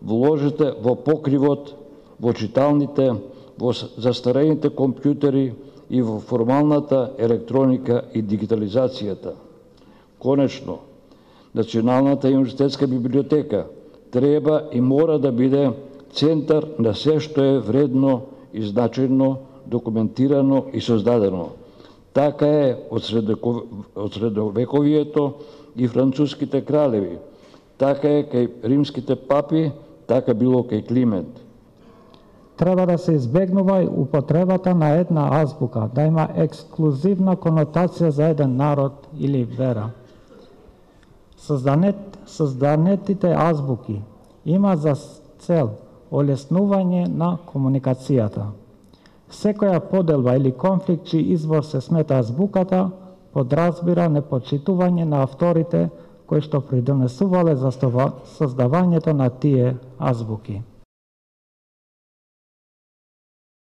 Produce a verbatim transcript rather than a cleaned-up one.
вложите во покривот, во читалните, во застарените компјутери и во формалната електроника и дигитализацијата. Конечно, Националната универзитетска библиотека треба и мора да биде центар на се што е вредно и значајно документирано и создадено. Така е од средовековието и француските кралеви, така е кај римските папи, така било кај Климент. Треба да се избегнува и употребата на една азбука, да има ексклузивна конотација за еден народ или вера. Созданет, созданетите азбуки има за цел олеснување на комуникацијата. Секоја поделба или конфликт чиј извор се смета азбуката, подразбира непочитување на авторите кои што придонесувале за создавањето на тие азбуки.